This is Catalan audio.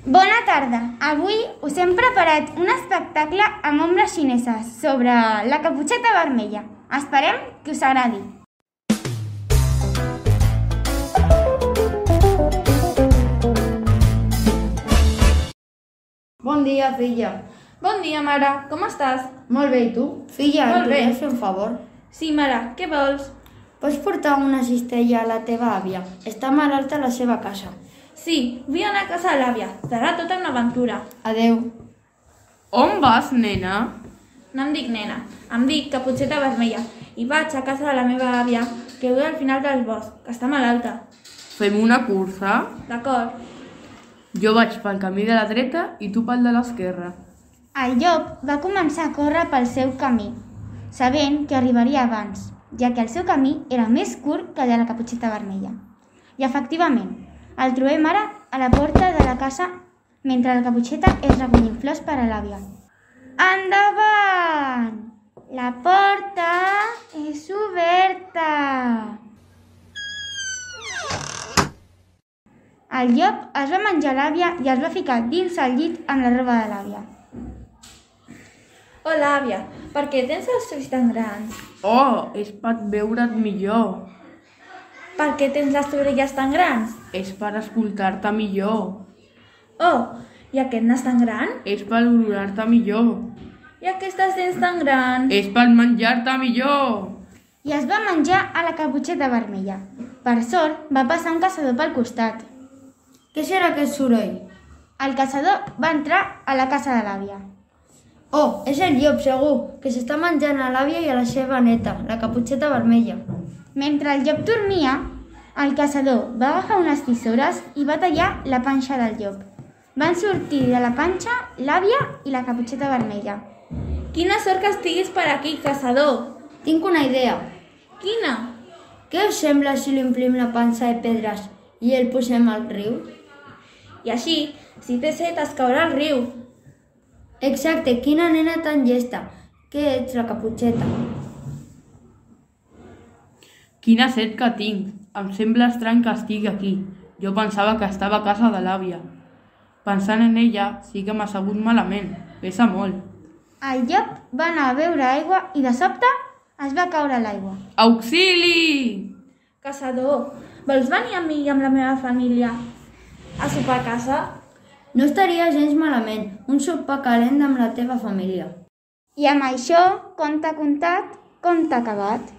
Bona tarda. Avui us hem preparat un espectacle amb ombres xineses sobre la caputxeta vermella. Esperem que us agradi. Bon dia, filla. Bon dia, mare. Com estàs? Molt bé, i tu? Filla, Molt et bé. podries fer un favor? Sí, mare. Què vols? Pots portar una cistella a la teva àvia? Està malalta a la seva casa. Sí, vull anar a casa de l'àvia. Serà tota una aventura. Adeu. On vas, nena? No em dic nena. Em dic Caputxeta Vermella. I vaig a casa de la meva àvia, que viu al final del bosc, que està malalta. Fem una cursa? D'acord. Jo vaig pel camí de la dreta i tu pel de l'esquerra. El llop va començar a córrer pel seu camí, sabent que arribaria abans, ja que el seu camí era més curt que el de la caputxeta vermella. I efectivament, el trobem ara a la porta de la casa mentre la caputxeta és recollint flors per a l'àvia. Endavant! La porta és oberta! El llop es va menjar l'àvia i es va ficar dins el llit amb la roba de l'àvia. Hola, àvia. Per què tens els ulls tan grans? Oh, és per veure't millor. Per què tens les orelles tan grans? És per escoltar-te millor. Oh, i aquest nas tan gran? És per olorar-te millor. I aquestes dents tan grans? És per menjar-te millor. I es va menjar a la caputxeta vermella. Per sort, va passar un caçador pel costat. Què serà aquest soroll? El caçador va entrar a la casa de l'àvia. Oh, és el llop, segur, que s'està menjant a l'àvia i a la seva neta, la caputxeta vermella. Mentre el llop dormia, el caçador va agafar unes tisores i va tallar la panxa del llop. Van sortir de la panxa l'àvia i la caputxeta vermella. Quina sort que estiguis per aquí, caçador. Tinc una idea. Quina? Què us sembla si li omplim la pansa de pedres i el posem al riu? I així, si té set, es caurà al riu. Exacte, quina nena tan llesta. Què ets, la caputxeta? Quina set que tinc. Em sembla estrany que estigui aquí. Jo pensava que estava a casa de l'àvia. Pensant en ella, sí que m'ha sabut malament. Pesa molt. El llop va anar a beure aigua i de sobte es va caure a l'aigua. Auxili! Caçador, vols venir amb mi i amb la meva família a sopar a casa? No estaria gens malament, un sopar calent amb la teva família. I amb això, conte contat, conte acabat.